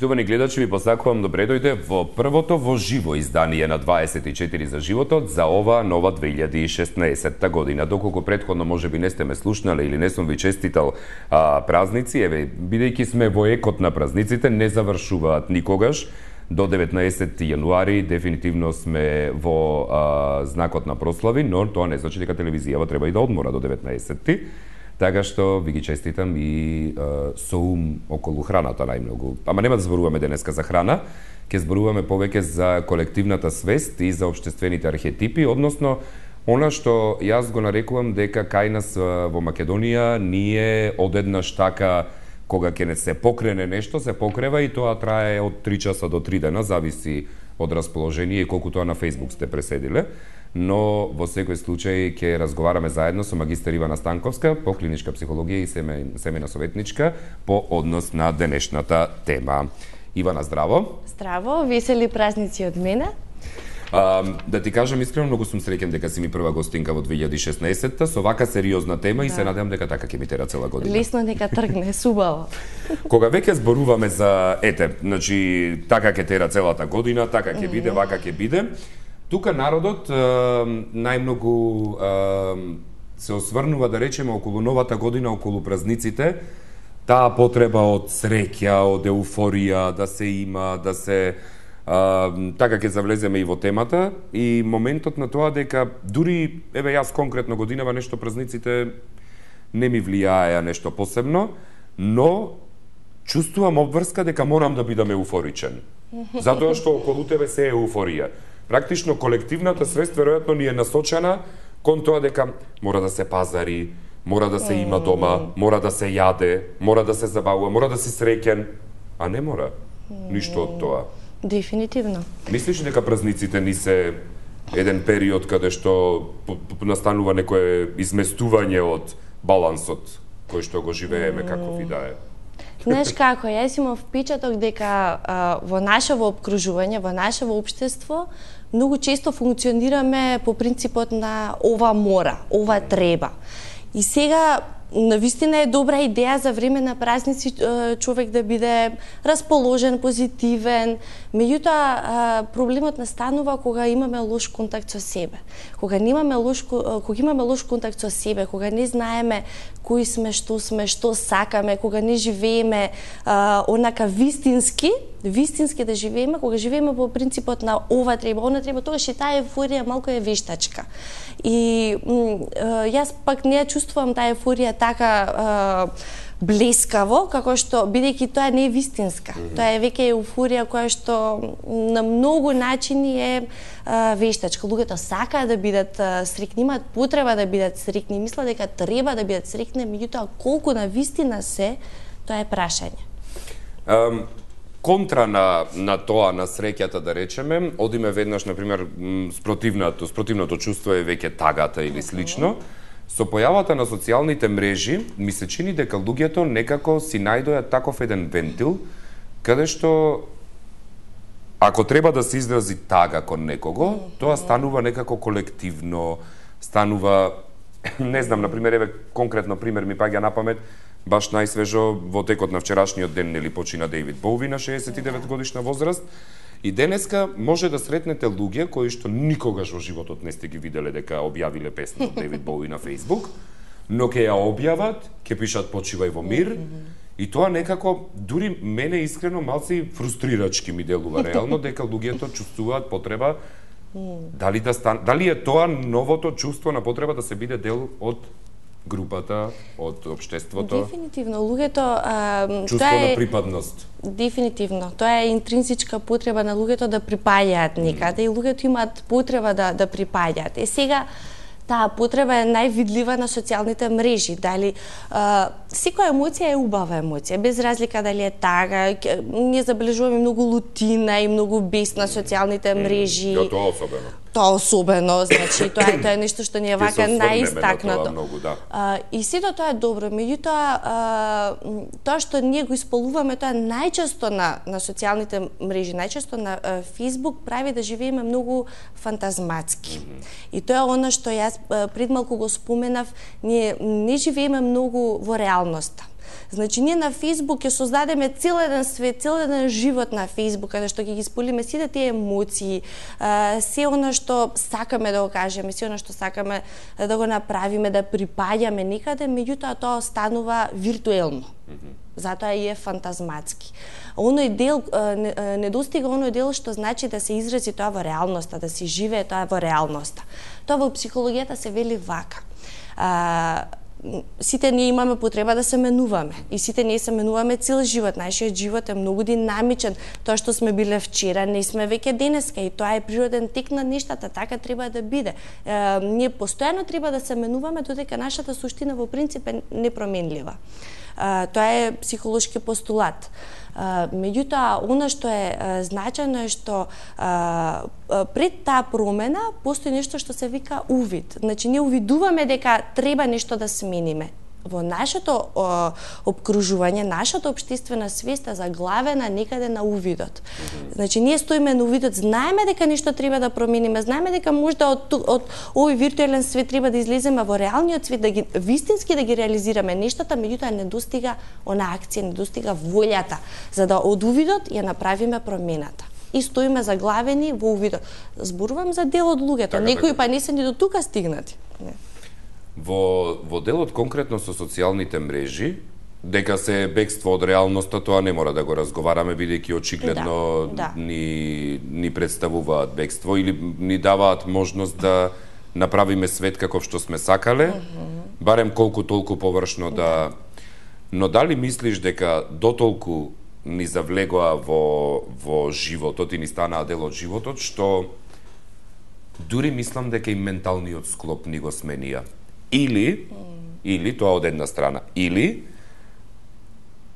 Почитувани гледачи, ви посакувам добре дојде во првото во живо издание на 24 за животот за ова нова 2016 година. Доколку претходно можеби не сте ме слушнале или не сум ви честитал празници, еве, бидејќи сме во екот на празниците, не завршуваат никогаш. До 19 јануари дефинитивно сме во знакот на прослави, но тоа не значи дека телевизијава треба и да одмора до 19-ти. Така што ви ги честитам и со ум околу храната најмногу. Ама нема да зборуваме денеска за храна, ќе зборуваме повеќе за колективната свест и за општествените архетипи, односно она што јас го нарекувам дека кај нас во Македонија ние одеднаш така кога ќе не се покрене нешто, се покрева и тоа трае од 3 часа до 3 дена, зависи од расположение и колку тоа на Facebook сте преседиле. Но во секој случај ќе разговараме заедно со магистер Ивана Станковска по клиничка психологија и семејна советничка по однос на денешната тема. Ивана, здраво. Здраво, весели празници од мене. Да ти кажам искрено, многу сум среќен дека си ми прва гостинка во 2016-та со вака сериозна тема и се надевам дека така ќе ми тера цела година. Лесно нека тргне, субаво. Кога веќе зборуваме за значи така ќе тера целата година, така ќе биде, вака ќе биде. Тука народот најмногу се осврнува, да речеме, околу новата година, околу празниците, таа потреба од среќа, од еуфорија, да се има, да се... така ќе завлеземе и во темата и моментот на тоа дека дури, еве јас конкретно годинава нешто празниците не ми влијаеа нешто посебно, но чувствувам обврска дека морам да бидам еуфоричен. Затоа што околу тебе се е еуфорија. Практично колективната свест веројатно ни е насочена кон тоа дека мора да се пазари, мора да се има дома, мора да се јаде, мора да се забавува, мора да си среќен, а не мора ништо од тоа. Дефинитивно. Мислиш дека празниците ни се еден период каде што настанува некое изместување од балансот кој што го живееме каков и да е? Знаеш како, јас имам впечаток дека во нашево обкружување, во нашево општество, многу често функционираме по принципот на ова мора, ова треба. И сега навистина е добра идеја за време на празници човек да биде расположен, позитивен. Меѓутоа проблемот настанува кога имаме лош контакт со себе. Кога имаме лош контакт со себе, кога не знаеме кои сме, што сакаме, кога не живееме онака вистински да живееме, кога живееме по принципот на ова треба, она треба, тогаш и таа еуфорија малку е вештачка. И јас пак не ја чувствувам таа еуфорија така блескаво, како што, бидејќи тоа не е вистинска. Тоа е веќе еуфорија која што на многу начини е вештачка. Луѓето сакаат да бидат среќни, имаат потреба да бидат среќни, мислат дека треба да бидат среќни, меѓутоа колку на вистина се, тоа е прашање. Контра на тоа, на среќата, да речеме, одиме веднаш, например, спротивното чувство е веќе тагата или слично. Со појавата на социјалните мрежи, ми се чини дека луѓето некако си најдоа таков еден вентил, каде што ако треба да се изрази тага кон некого, тоа станува некако колективно, станува, не знам, например, еве конкретно пример ми паѓа на памет, баш најсвежо во текот на вчерашниот ден, нели, почина Дејвид Боуи на 69 годишна возраст. И денеска може да сретнете луѓе кои што никогаш во животот не сте ги виделе дека објавиле песна од Дејвид Боуи на Facebook, но ќе ја објават, ќе пишат почивај во мир, и тоа некако, дури мене искрено малци фрустрирачки ми делува реално, дека луѓето чувствуваат потреба дали е тоа новото чувство на потреба да се биде дел од групата, од општеството. Дефинитивно, луѓето чувство на припадност. Дефинитивно, тоа е интринзичка потреба на луѓето да припаѓаат некаде и луѓето имаат потреба да припаѓаат. Сега таа потреба е највидлива на социјалните мрежи. Дали секоја емоција е убава емоција, без разлика дали е тага, ние забележуваме многу лутина и многу бес на социјалните мрежи. Тоа особено. Тоа особено, значи тоа е нешто што ни е вака најистакнато. И сето тоа е добро, меѓутоа тоа што ние го исполнуваме тоа најчесто на социјалните мрежи, најчесто на Facebook прави да живееме многу фантазматски. И тоа е она што јас пред малку го споменав, ние не живееме многу во реалноста. Значи, ние на Facebook ќе создадеме цел еден свет, цел еден живот на Facebook, каде што ќе ги споделиме сите тие емоции, се она што сакаме да го кажеме, се она што сакаме да го направиме, да припаѓаме некаде, меѓутоа тоа останува виртуелно. Затоа и е фантазматски. Оној дел, не достига оној дел што значи да се изрази тоа во реалноста, да се живее тоа во реалноста. Тоа во психологијата се вели вака. Сите ние имаме потреба да се менуваме и сите ние се менуваме цел живот. Нашиот живот е многу динамичен. Тоа што сме биле вчера, не сме веќе денеска и тоа е природен тек на нештата, така треба да биде. Ние постојано треба да се менуваме додека нашата суштина во принцип е непроменлива. Тоа е психолошки постулат. Меѓутоа, она што е значајно е што пред таа промена постои нешто што се вика увид. Значи, ние увидуваме дека треба нешто да смениме. Во нашето обкружување, нашата општествена свест е заглавена некаде на увидот. Значи, ние стоиме на увидот, знаеме дека нешто треба да промениме, знаеме дека можда од овој виртуелен свет треба да излеземе во реалниот свет, да ги вистински да ги реализираме нештата, меѓутоа не достига она акција, не достига волјата, за да од увидот ја направиме промената. И стоиме заглавени во увидот. Зборувам за дел од луѓето, некои па не се ни до тука стигнати. Не. Во делот конкретно со социјалните мрежи, дека се бегство од реалноста, тоа не мора да го разговараме, бидејќи очигледно ни представуваат бегство или ни даваат можност да направиме свет каков што сме сакале, барем колку толку површно да... Но дали мислиш дека дотолку ни завлегоа во животот и ни станаа дел од животот, што дури мислам дека и менталниот склоп ни го сменија? Или тоа од една страна, или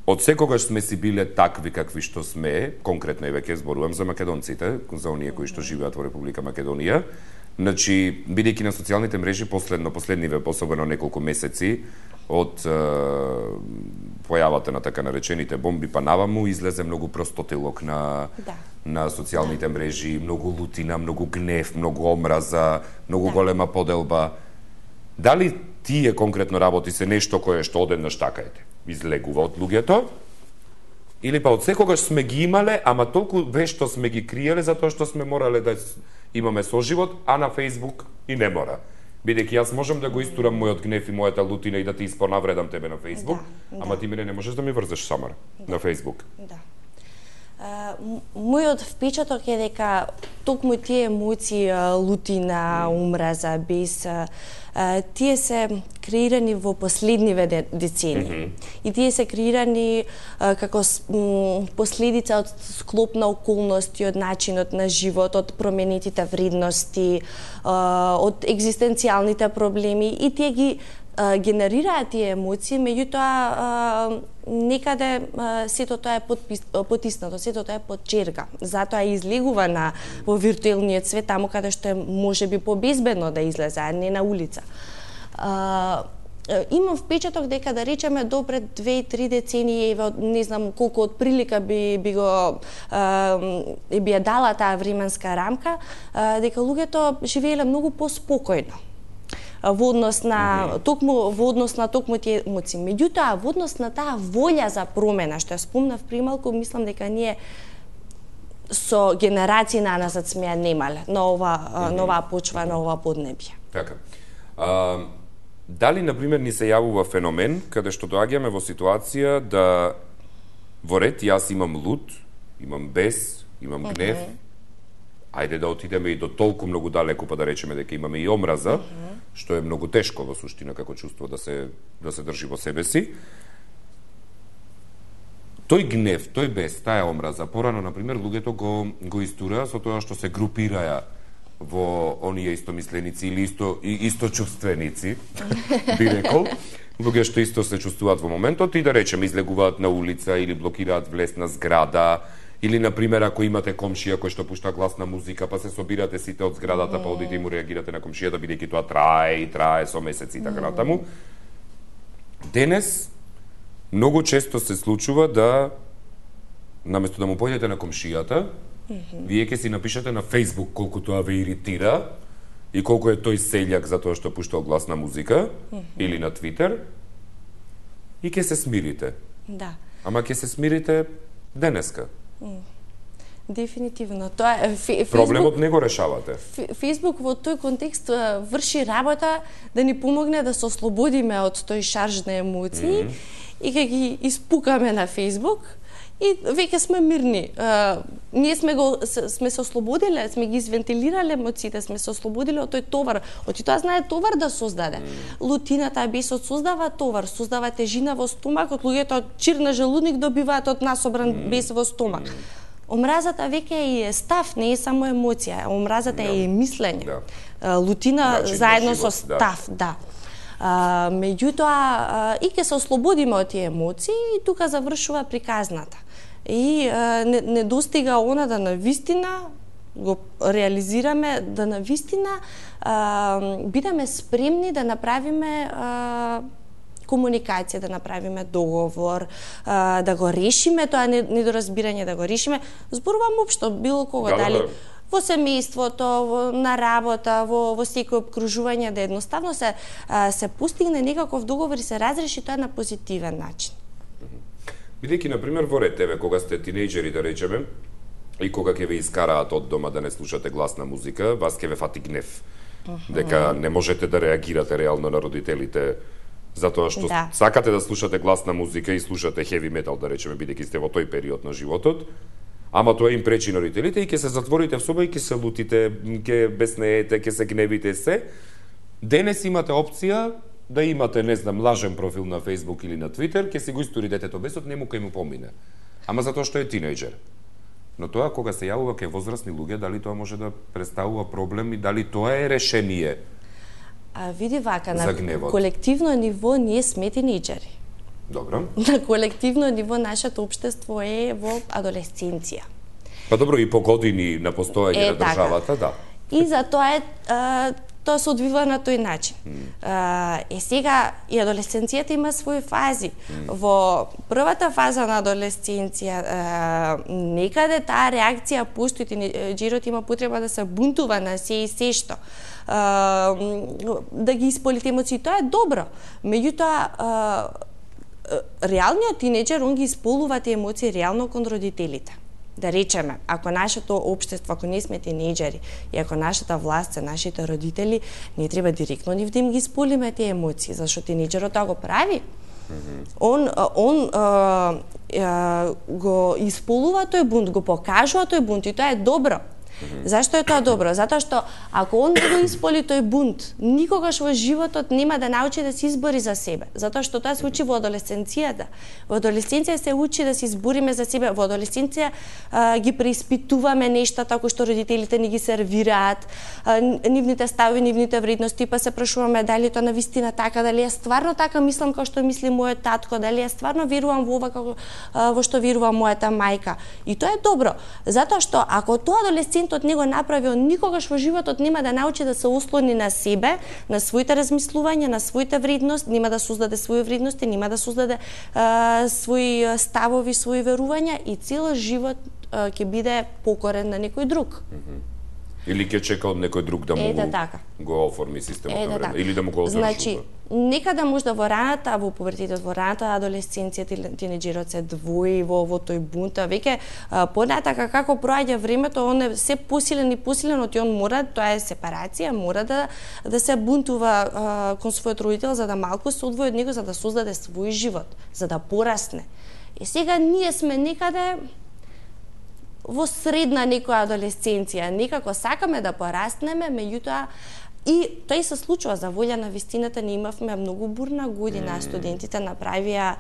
од секогаш сме си биле такви какви што сме, конкретно и веќе зборувам за македонците, за оние кои што живеат во Република Македонија. Значи, бидејќи на социјалните мрежи последниве, особено неколку месеци од појавата на така наречените бомби па наваму, излезе многу простотилок на социјалните мрежи, многу лутина, многу гнев, многу омраза, многу голема поделба. Дали тие конкретно работи се нешто кое што одеднаш такаете излегува од луѓето, или па од секогаш сме ги имале, ама толку вешто сме ги криеле затоа што сме морале да имаме соживот, а на Facebook и не мора. Бидејќи јас можам да го истурам мојот гнев и мојата лутина и да ти испонавредам тебе на Facebook, ама ти мене не можеш да ми врзеш самар на Facebook. Да. Мојот впечаток е дека токму тие емоции, лутина, омраза, бес, тие се креирани во последниве децении. И тие се креирани како последица од склоп на околности, од начинот на живот, од променетите вредности, од екзистенцијалните проблеми, и тие ги генерираат тие емоции, меѓутоа некаде сето тоа е потиснато, сето тоа е под черга. Затоа излегува во виртуелниот свет, таму каде што е можеби побезбедно да излезе, а не на улица. Имам впечаток дека, да речеме, до пред 2-3 децении, не знам колку од прилика би ја дала таа временска рамка, дека луѓето живееле многу поспокојно во однос на токму тие емоции. Меѓутоа, во однос на таа волја за промена, што ја спомнав прималку, мислам дека ние со генерации наназад сме ја немале на оваа почва, на оваа поднебје. Така. Дали, например, ни се јавува феномен каде што доаѓаме во ситуација да во ред јас имам лут, имам бес, имам гнев, ајде да отидеме и до толку многу далеку, па да речеме дека имаме и омраза, што е многу тешко во суштина како чувство да се држи во себе си. Тој гнев, тој бес, таа омраза, порано, например, луѓето го истураа со тоа што се групираја во оние истомисленици или источувственици, би рекол, луѓе што исто се чувствуваат во моментот и, да речеме, излегуваат на улица или блокираат влез на зграда, или, например, ако имате комшија кој што пушта гласна музика, па се собирате сите од зградата, па одите и му реагирате на комшијата, бидејќи тоа трае со месеци и така натаму. Денес многу често се случува да, наместо да му појдете на комшијата, вие ќе си напишете на Facebook колку тоа ве иритира и колку е тој селјак за тоа што пуштал гласна музика, или на Twitter, и ќе се смирите. Да. Ама ќе се смирите денеска. Дефинитивно. Тоа е Проблемот не го решавате. Фејсбук во тој контекст врши работа да ни помогне да се ослободиме од тој шарж на емоции и кога ги испукаме на Фејсбук и веќе сме мирни. Ние сме се ослободиле, сме ги извентилирале емоциите, сме се ослободиле од тој товар. Оти тоа знае товар да создаде. Лутината, бесот создава товар, создава тежина во стомакот, луѓето чир на желудник добиваат од насобран бес во стомак. Омразата веќе е став, не е само емоција. Омразата е и мислење. Лутина заедно со став, да. Меѓутоа, и ќе се ослободиме од тие емоции и тука завршува приказната. И не достига она да навистина го реализираме, да навистина бидеме спремни да направиме комуникација, да направиме договор, да го решиме тоа недоразбирање, да го решиме. Зборувам општо, било кого, дали во семејството, на работа, во секој обкружување, да едноставно се постигне некаков договор и се разреши тоа на позитивен начин. Бидејќи, например, во ред тебе, кога сте тинејџери, да речеме, и кога ќе ве искараат од дома да не слушате гласна музика, вас ќе ве фати гнев. Дека не можете да реагирате реално на родителите, затоа што сакате да слушате гласна музика и слушате heavy metal, да речеме, бидејќи сте во тој период на животот, ама тоа им пречи на родителите и ќе се затворите в соба и ќе се лутите, ќе безнеете, ќе се гневите се. Денес имате опција да имате, не знам, лажен профил на Facebook или на Twitter, ќе си го истори детето бесот, нему кај му помине. Ама затоа што е тинејџер. Но тоа кога се јавува кај возрастни луѓе, дали тоа може да представува проблем и дали тоа е решение? Види вака, на колективно ниво ние сме тинејџери. Добро. На колективно ниво нашето општество е во адолесценција. Па добро, и по години на постоење на државата, да. И затоа тоа се одвива на тој начин. Сега и адолесценцијата има своји фази. Во првата фаза на адолесценција некаде таа реакција постои, тинејџерот има потреба да се бунтува на се и се што. Да ги исполите емоции, тоа е добро. Меѓутоа, реалниот тинејџер, он ги исполнува тие емоции реално кон родителите. Да речеме, ако нашето општество, ако не сме тинејџери и ако нашата власт се нашите родители, не треба директно нив да им ги исполниме тие емоции, зашто тинејџерот тоа го прави. Он го исполнува тој бунт, го покажува тој бунт и тоа е добро. Зашто е тоа добро? Затоа што ако он го исполи тој бунт, никогаш во животот нема да научи да се избори за себе. Затоа што тоа се учи во адолесценцијата. Во адолесценција се учи да се избориме за себе. Во адолесценција ги преиспитуваме нештата кои што родителите ни ги сервираат, нивните ставови, нивните вредности, па се прашуваме дали тоа навистина така, дали е стварно така мислам како што мисли мојот татко, дали е стварно верувам во ова како во што верува мојата мајка. И тоа е добро, затоа што ако тоа адолесцентот не го направи, он никогаш во животот нема да научи да се ослони на себе, на своите размислувања, на своите вредности, нема да создаде своји вредности, нема да создаде своји ставови, своји верувања и цел живот ќе биде покорен на некој друг. Или ќе чека од некој друг да му го оформи системот на време, или да му го одржува. Значи, некада можда во раната, во пубертетот, во раната адолесценција, тинејџерот се двои во тој бунт, веќе понатака како проаѓа времето, он е се посилен и посилен, оти он мора, тоа е сепарација, мора да се бунтува кон својот родител за да малку се одвои од него, за да создаде свој живот, за да порасне. И сега ние сме некаде во средна некоја адолесценција, некако сакаме да пораснеме, меѓутоа и тоа и се случува за волја на вистината. Ние имавме многу бурна година, студентите направија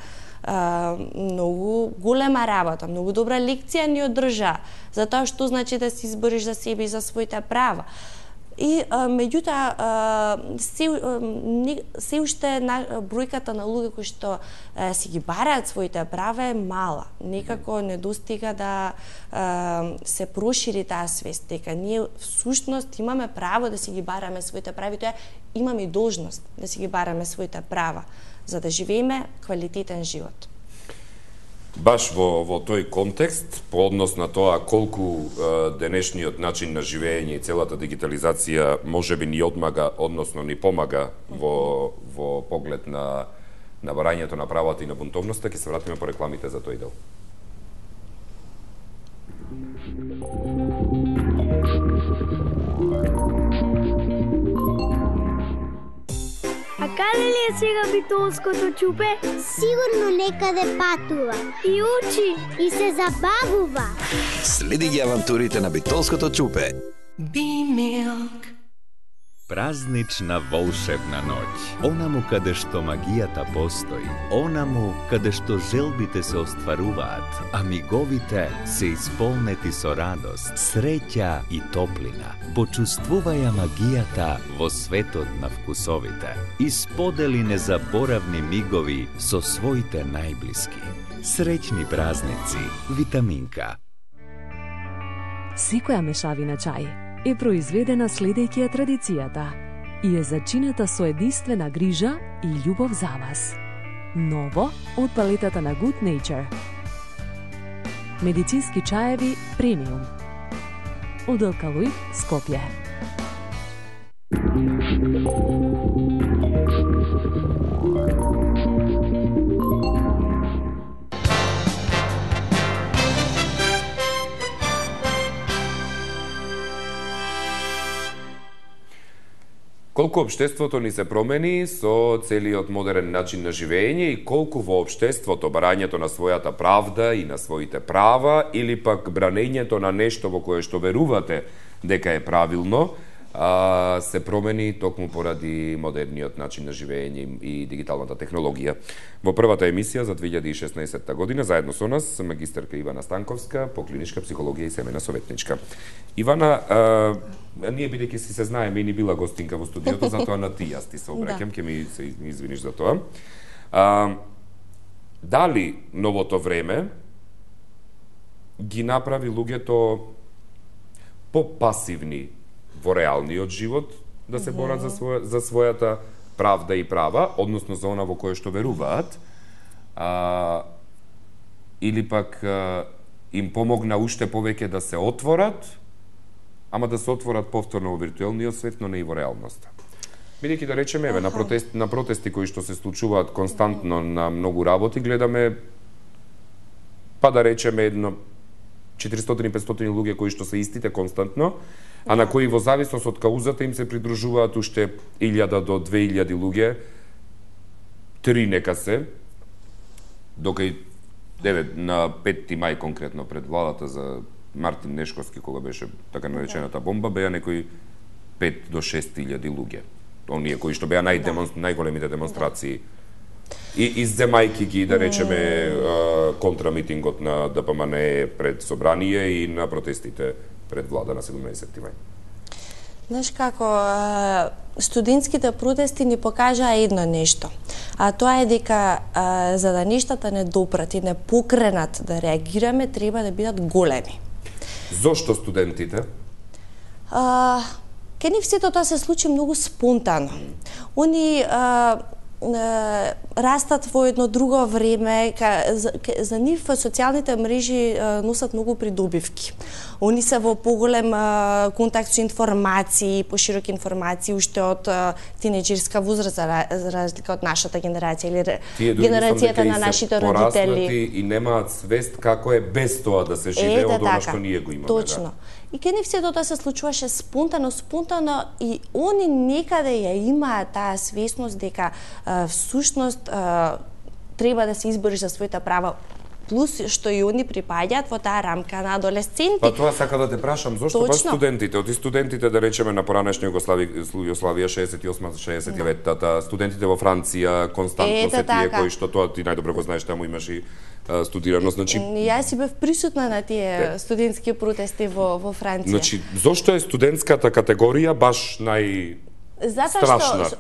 многу голема работа, многу добра лекција ни одржа за тоа што значи да се избориш за себе и за своите права. И меѓутоа се уште бројката на луѓе кои што си ги бараат своите права е мала. Некако не достига да се прошири таа свест дека ние всушност имаме право да си ги бараме своите права и тоа имаме и должност да си ги бараме своите права за да живееме квалитетен живот. Баш во тој контекст, по однос на тоа колку денешниот начин на живење и целата дигитализација можеби ни одмага, односно ни помага во поглед на на барањето на правата и на бунтовноста, ќе се вратиме по рекламите за тој дел. А каде ли е сега битолското чупе? Сигурно некаде патува. И учи. И се забавува. Следи ги авантурите на битолското чупе. B-Milk. Празнична волшебна ноќ. Онаму каде што магијата постои, онаму каде што желбите се остваруваат, а миговите се исполнети со радост, среќа и топлина. Почувствуваја магијата во светот на вкусовите и сподели незаборавни мигови со своите најблиски. Среќни празници, Витаминка. Секоја мешавина чај е произведена следејќи ја традицијата и е зачинета со единствена грижа и љубов за вас. Ново од палетата на Good Nature. Медицински чаеви премиум. Од Алкалоид Скопје. Колку општеството ни се промени со целиот модерен начин на живење и колку во општеството барањето на својата правда и на своите права или пак бранењето на нешто во кое што верувате дека е правилно, се промени токму поради модерниот начин на живење и дигиталната технологија. Во првата емисија за 2016 година заедно со нас магистерка Ивана Станковска по клиничка психологија и семејна советничка. Ивана, ние бидејќи си се знаеме и ни била гостинка во студиото, затоа на ти јас ти се обраќам, ќе ми се извиниш за тоа. Дали новото време ги направи луѓето попасивни во реалниот живот, да се борат за својата правда и права, односно за она во кое што веруваат, или пак им помогна уште повеќе да се отворат, ама да се отворат повторно во виртуелниот свет, но не и во реалноста. Бидејќи да речеме, еве, на протести кои што се случуваат константно на многу работи, гледаме, па да речеме, едно 400-500 луѓе кои што се истите константно, а на кои во зависност од каузата им се придружуваат уште 1000 до 2000 луѓе, 3 нека се, докај на 5 мај конкретно пред владата за Мартин Нешковски, кога беше така наречената бомба, беа некои 5 до 6000 луѓе. Оние кои што беа најголемите демонстрации. И земајки ги, да речеме, контрамитингот на ДПМН пред собрание и на протестите пред влада на 17 мај. Знаеш како, студентските протести ни покажаа едно нешто, а тоа е дека за да нештата не допрат и не покренат да реагираме, треба да бидат големи. Зошто студентите? Ке нив сето тоа се случи многу спонтано. Они растат во едно друго време, за нив социјалните мрежи носат многу придобивки. Они се во поголем контакт со информации, пошироки информации уште од тинеџерска возраст, за разлика од нашата генерација или генерацијата на нашите родители. И немаат свест како е без тоа да се живее од она што ние го имаме. Точно. И ке нив сето тоа се случуваше спонтано и они некаде ја имаат таа свесност дека всушност треба да се избориш за своите права, плюс што и они припаѓаат во таа рамка на адолесценти. Па тоа сака да те прашам, зошто баш студентите? Оти студентите, да речеме, на поранешна Југославија 68-69-тата, студентите во Франција, константно се тие кои што тоа ти најдобро го знаеш, таму имаш и студирано, значи... Јас си бев присутна на тие студентски протести во Франција. Значи, зошто е студентската категорија баш Затоа што,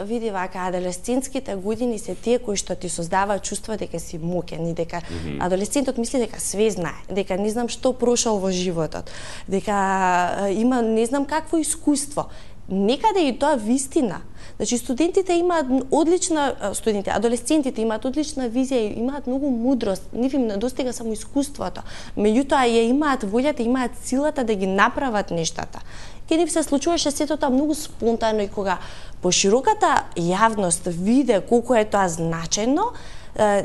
види вака, адолесцентските години се тие кои што ти создаваат чувство дека си мокен и дека адолесцентот мисли дека све знае, дека не знам што прошал во животот, дека има не знам какво искуство. некаде и тоа вистина. Значи студентите имаат адолесцентите имаат одлична визија, имаат многу мудрост, нив им недостига само искуството. Меѓутоа ја имаат волјата, имаат силата да ги направат нештата. Ке нив се случуваше сето тоа многу спонтано и кога пошироката јавност виде колку е тоа значајно,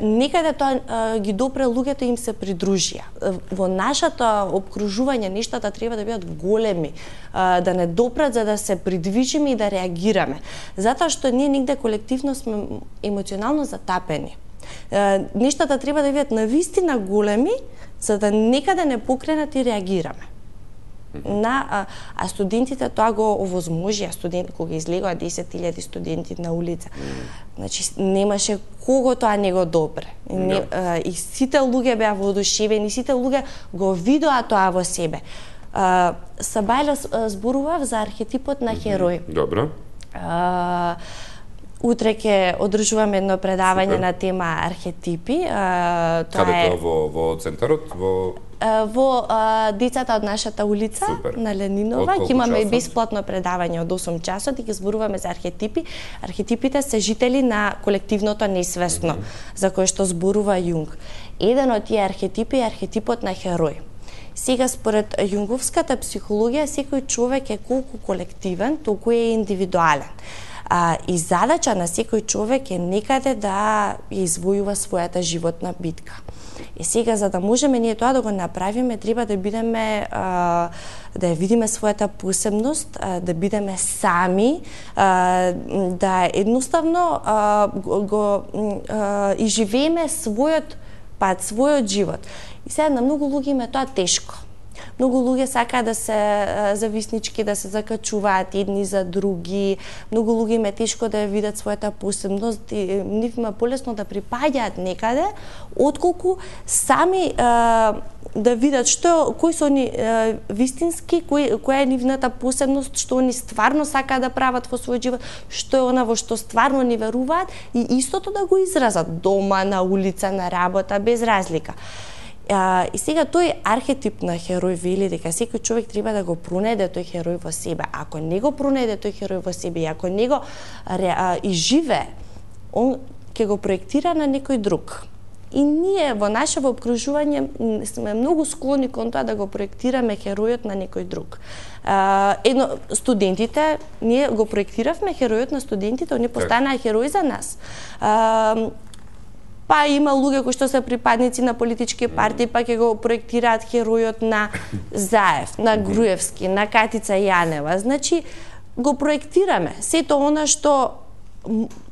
некаде тоа ги допре луѓето и им се придружија. Во нашето обкружување нештата треба да бидат големи, да не допрат за да се придвижиме и да реагираме. Затоа што ние негде колективно сме емоционално затапени. Нештата треба да бидат навистина големи, за да некаде не покренат и реагираме. А студентите тоа го овозможија, кога излегоа 10.000 студенти на улица. Значи немаше кого тоа не го добре. И сите луѓе беа воодушевени, сите луѓе го видоа тоа во себе. Сабајле зборував за архетипот на херој. Добро. Утре ќе одржуваме едно предавање на тема архетипи. Каде тоа во центарот? Во децата од нашата улица на Ленинова ќе имаме и бесплатно предавање од 8 часот и ќе зборуваме за архетипи. Архетипите се жители на колективното несвесно, за кое што зборува Јунг. Еден од тие архетипи е архетипот на херој. Сега според јунговската психологија секој човек е колку колективен, толку е индивидуален. И задача на секој човек е некаде да ја извојува својата животна битка. И сега, за да можеме ние тоа да го направиме, треба да бидеме, да ја видиме својата посебност, да бидеме сами, да едноставно го изживееме својот пат, својот живот. И сега на многу луѓе им е тоа тешко. Многу луѓе сакаат да се зависнички, да се закачуваат едни за други. Многу луѓе им е тешко да ја видат својата посебност и нив има полесно да припаѓаат некаде, отколку сами да видат кои се они вистински, која е нивната посебност, што они стварно сакаат да прават во својот живот, што е она во што стварно ни веруваат и истото да го изразат дома, на улица, на работа, без разлика. И сега тој архетип на херој вели дека секој човек треба да го пронајде тој херој во себе. Ако не го пронајде тој херој во себе и ако не го изживе, он ќе го проектира на некој друг. И ние во нашето обкружување сме многу склони кон тоа да го проектираме херојот на некој друг. Студентите, ние го проектиравме херојот на студентите, они постанаа херои за нас. Па има луѓе кои што се припадници на политички партии, па ќе го проектираат херојот на Заев, на Груевски, на Катица Јанева. Значи, го проектираме. Сето она што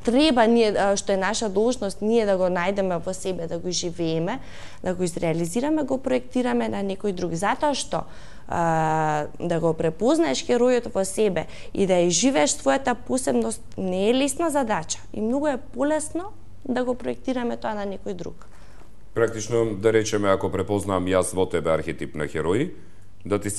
треба ние, што е наша должност, ние да го најдеме во себе, да го живееме, да го изреализираме, го проектираме на некој друг. Затоа што да го препознаеш херојот во себе и да ја живееш својата посебност не е лесна задача. И многу е полесно да го проектираме тоа на некој друг. Практично, да речеме, ако препознам јас во тебе архетип на херој, да ти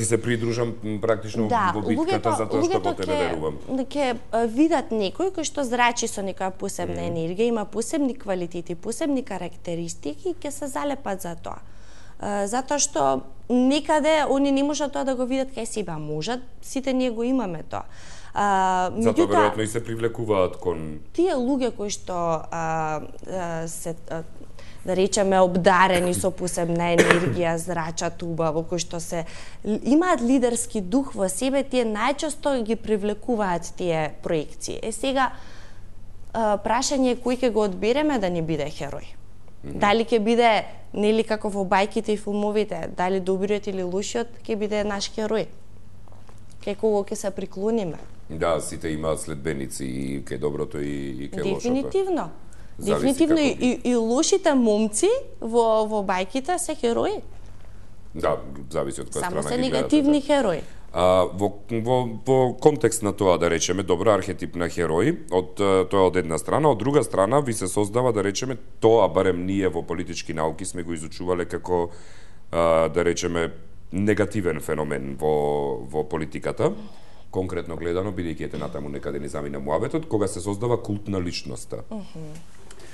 се придружам практично во битката затоа што во тебе верувам. Да ќе видат некој кој што зрачи со некоја посебна енергија, има посебни квалитети, посебни карактеристики и ќе се залепат за тоа. Затоа што некаде они не можат тоа да го видат кај себе, можат, сите ние го имаме тоа. Затоа веројатно и се привлекуваат кон тие луѓе кои што се да речеме обдарени со посебна енергија, зрачат убаво, кои што се имаат лидерски дух во себе, тие најчесто ги привлекуваат тие проекции. Сега прашање е кој ќе го одбереме да ни биде херој. Дали ќе биде нели како во бајките и филмовите, дали добриот или лошиот ќе биде наш херој. Кај кого ќе се приклониме. Да, сите имаат следбеници и кај доброто и кај лошото. Дефинитивно. Дефинитивно и лошите момци во бајките се херои. Да, зависи од која страна ги гледате. Само се негативни херои. Во контекст на тоа, да речеме, добро архетип на херој, тоа од една страна, од друга страна ви се создава, да речеме, тоа барем ние во политички науки сме го изучувале како, да речеме, негативен феномен во политиката, конкретно гледано, бидејќи ете натаму некаде ни замина муабетот, кога се создава култ на личноста.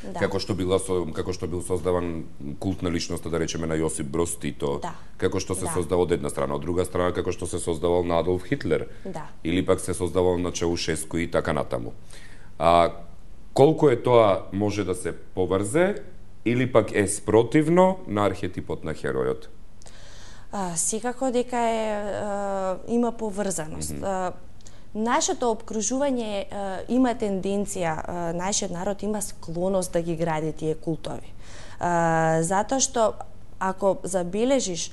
Да. Како што бил создаван култ на личноста, да речеме, на Јосип Броз Тито, како што се создава од една страна, од друга страна како што се создавал на Адолф Хитлер, или пак се создавал на Чаушеску и така натаму. Колку е тоа може да се поврзе или пак е спротивно на архетипот на херојот? Секако дека има поврзаност. Нашето опкружување има тенденција, нашиот народ има склоност да ги гради тие култови. Затоа што ако забележиш,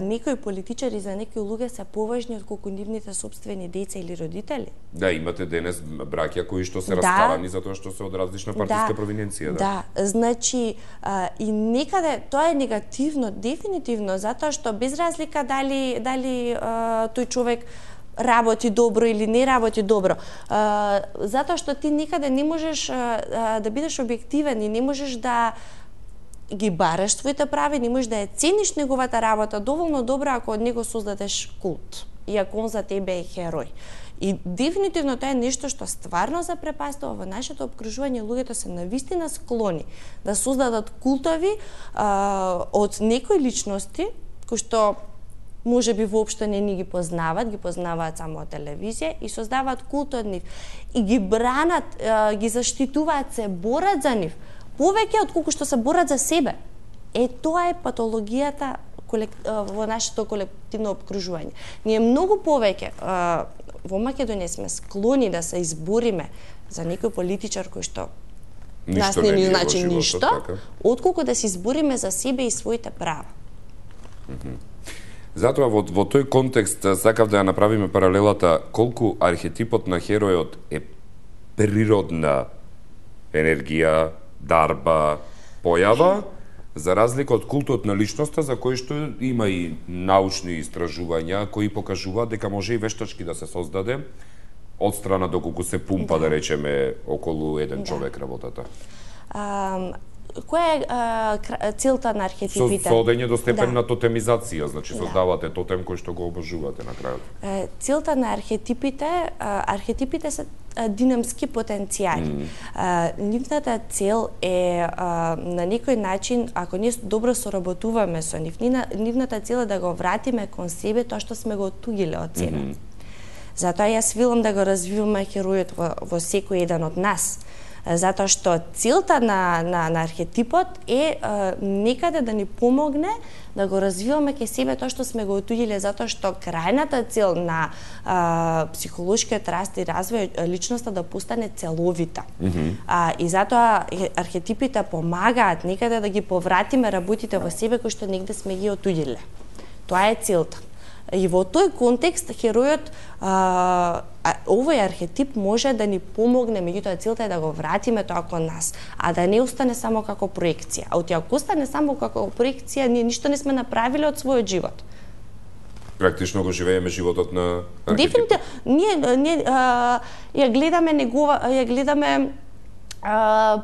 некои политичари за некои луѓе се поважни отколку нивните сопствени деца или родители. Да, имате денес браќа кои што се раскарани затоа што се од различна партиска провиненција. Да, значи и некаде тоа е негативно, дефинитивно, затоа што без разлика дали тој човек работи добро или не работи добро. Затоа што ти никаде не можеш да бидеш објективен и не можеш да ги бараш твоите прави, не можеш да ја цениш неговата работа доволно добро ако од него создадеш култ и ако он за тебе е херој. И дефинитивно тоа е нешто што стварно запрепастува во нашето опкружување. Луѓето се навистина склони да создадат култови од некои личности кои што може би воопшто не ни ги познаваат само од телевизија и создаваат култ од нив. И ги бранат, ги заштитуваат, се борат за нив. Повеќе отколку што се борат за себе. Тоа е патологијата во нашето колективно опкружување. Ние многу повеќе во Македонија сме склони да се избориме за некој политичар кој што нас не ни значи ништо, отколку да се избориме за себе и своите права. Затоа во тој контекст сакав да ја направиме паралелата колку архетипот на херојот е природна енергија, дарба, појава, за разлика од култот на личноста, за кој што има и научни истражувања кои покажуваат дека може и вештачки да се создаде од страна доколку се пумпа, да речеме, околу еден човек работата. Која е целта на архетипите? Со одење до степен на тотемизација, значи создавате тотем кој што го обожувате на крајот. Целта на архетипите се динамски потенцијали. Нивната цел е на некој начин, ако ние добро соработуваме со нив, нивната цел е да го вратиме кон себе тоа што сме го отугиле од себе. Затоа јас велам да го развиваме херојот во секој еден од нас. Затоа што целта на архетипот е некаде да ни помогне да го развиваме ке себе тоа што сме го отуѓиле, затоа што крајната цел на психолошкиот раст и развој личноста да постане целовита. И затоа архетипите помагаат некаде да ги повратиме работите во себе кои што негде сме ги отуѓиле. Тоа е целта. И во тој контекст херојот, овој архетип може да ни помогне, меѓутоа целта е да го вратиме тоа кон нас, а да не остане само како проекција. А ако остане само како проекција, ние ништо не сме направиле од својот живот. Практично го живееме животот на архетипот. Дефинитивно, ние ја гледаме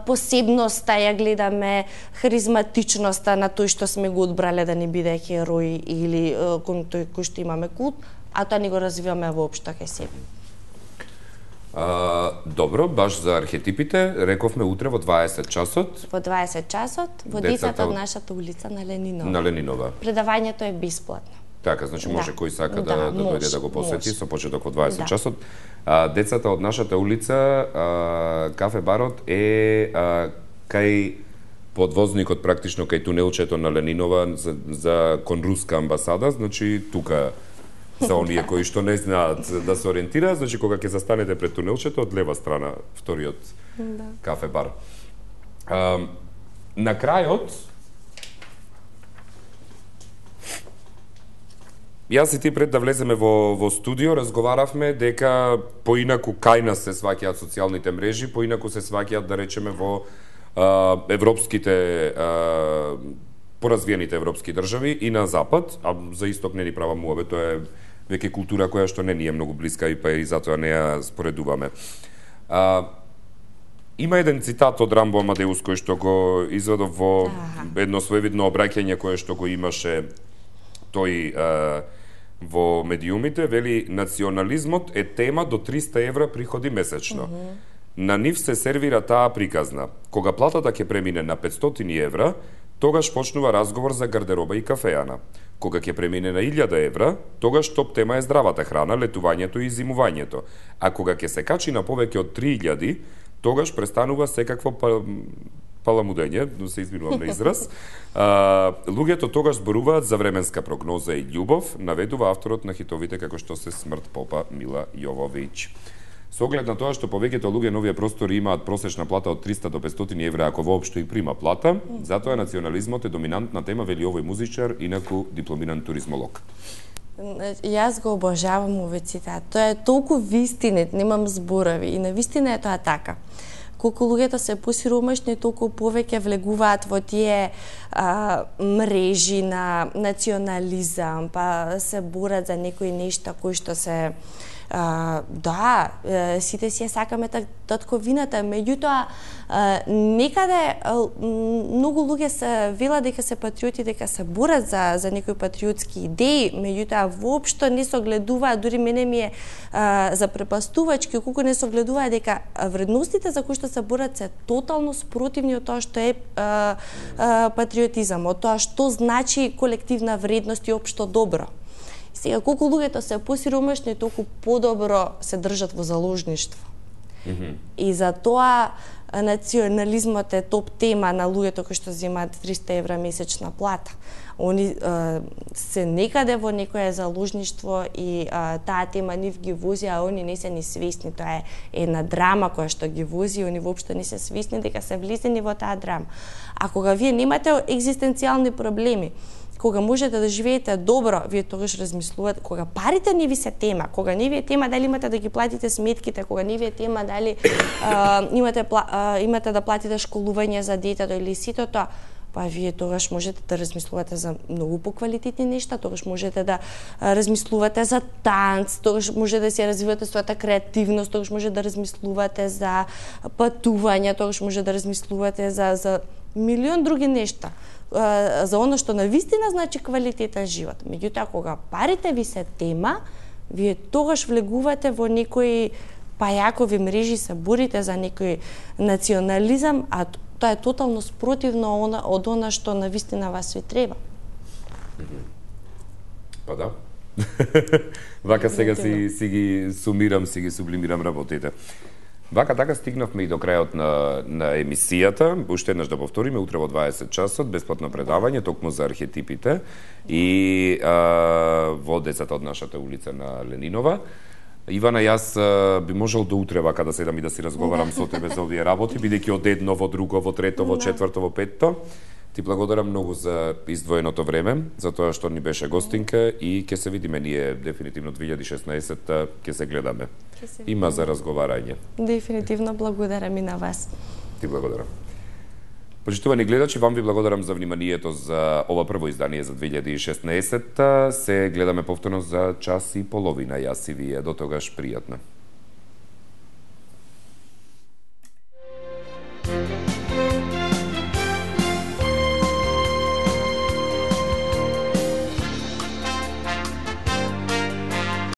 посебноста, ја гледаме харизматичноста на тој што сме го одбрале да ни биде херој или кон тој кој што имаме култ, а тоа ни го развиваме воопшто кај себе. Добро, баш за архетипите, рековме утре во 20 часот. Во 20 часот, во децата од нашата улица на Ленинова. На Ленинова. Предавањето е бесплатно. Така, значи може кој сака да дојде да го посети со почеток во 20 часот. Децата од нашата улица, кафе барот е кај подвозникот, практично кај тунелчето на Ленинова за кон руска амбасада, значи тука за оние кои што не знаат да се ориентираат, значи кога ќе застанете пред тунелчето од лева страна, вториот кафе бар. На крајот јас и ти пред да влеземе во студио разговаравме дека поинаку кај нас се сваќаат социјалните мрежи, поинаку се сваќаат, да речеме, во европските поразвиените европски држави и на запад, а за исток не ни права муабе, тоа е веќе култура која што не ни е многу блиска и па и затоа не ја споредуваме. Има еден цитат од Рамбо Амадеус кој што го изведов во едно своевидно обраќање кое што го имаше тој во медиумите, вели: национализмот е тема до 300 евра приходи месечно. На нив се сервира таа приказна. Кога платата ќе премине на 500 евра, тогаш почнува разговор за гардероба и кафејана. Кога ќе премине на 1000 евра, тогаш топ тема е здравата храна, летувањето и зимувањето. А кога ќе се качи на повеќе од 3000, тогаш престанува секакво паламудење, но се изминувам на израз. Луѓето тогаш зборуваат за временска прогноза и љубов, наведува авторот на хитовите како што се Смрт попа Мила Јововиќ. Со оглед на тоа што повеќето луѓе на овие простори имаат просечна плата од 300 до 500 евра, ако воопшто и прима плата, затоа национализмот е доминантна тема, вели овој музичар, инаку дипломиран туризмолог. Јас го обожавам овој цитат. Тоа е толку вистинет, немам зборови и на вистина е тоа така. Колку луѓето се посиромашни, толку повеќе влегуваат во тие мрежи на национализам, па се борат за некои нешта кои што се сите си ја сакаме татковината, меѓутоа некаде многу луѓе се велат дека се патриоти, дека се борат за некои патриотски идеи, меѓутоа воопшто не согледуваат, дури мене ми е запрепастувачки колку не согледуваат дека вредностите за кои што се борат се тотално спротивни од тоа што е патриотизам, од тоа што значи колективна вредност и општо добро. Сега, колку луѓето се посиромашни, толку подобро се држат во заложништво. И за тоа национализмот е топ тема на луѓето кои што земаат 300 евра месечна плата. Они се некаде во некое заложништво и таа тема нив ги вози, а они не се ни свесни. Тоа е една драма која што ги вози, они воопшто не се свесни дека се влезени во таа драма. А кога вие немате екзистенцијални проблеми, кога можете да живеете добро, вие тогаш размислувате, кога парите не ви се тема, кога не ви е тема дали имате да ги платите сметките, кога не ви е тема дали имате да платите школување за детето или сито тоа, па вие тогаш можете да размислувате за многу поквалитетни нешта, тогаш можете да размислувате за танц, тогаш може да се развивате својата креативност, тогаш може да размислувате за патување, тогаш може да размислувате за милион други нешта, за оно што навистина значи квалитетен живот. Меѓутоа, кога парите ви се тема, вие тогаш влегувате во некои пајакови мрежи, се борите за некој национализам, а тоа е тотално спротивно од она што навистина вас ви треба. Па да. Вака сега си ги сумирам, си ги сублимирам работите. Вака така стигнавме и до крајот на емисијата. Уште еднаш да повториме, утре во 20 часот, бесплатно предавање, токму за архетипите и во децата од нашата улица на Ленинова. Ивана, јас би можел до утре вака да седам и да си разговарам со тебе за овие работи, бидејќи од едно во друго, во трето, во четврто, во петто. Ти благодарам многу за издвоеното време, за тоа што ни беше гостинка и ќе се видиме ние дефинитивно 2016 ќе се гледаме. Има за разговарање. Дефинитивно благодарам и на вас. Ти благодарам. Почитувани гледачи, вам ви благодарам за вниманието за ова прво издание за 2016. Се гледаме повторно за час и половина. Јас и вие. До тогаш пријатно.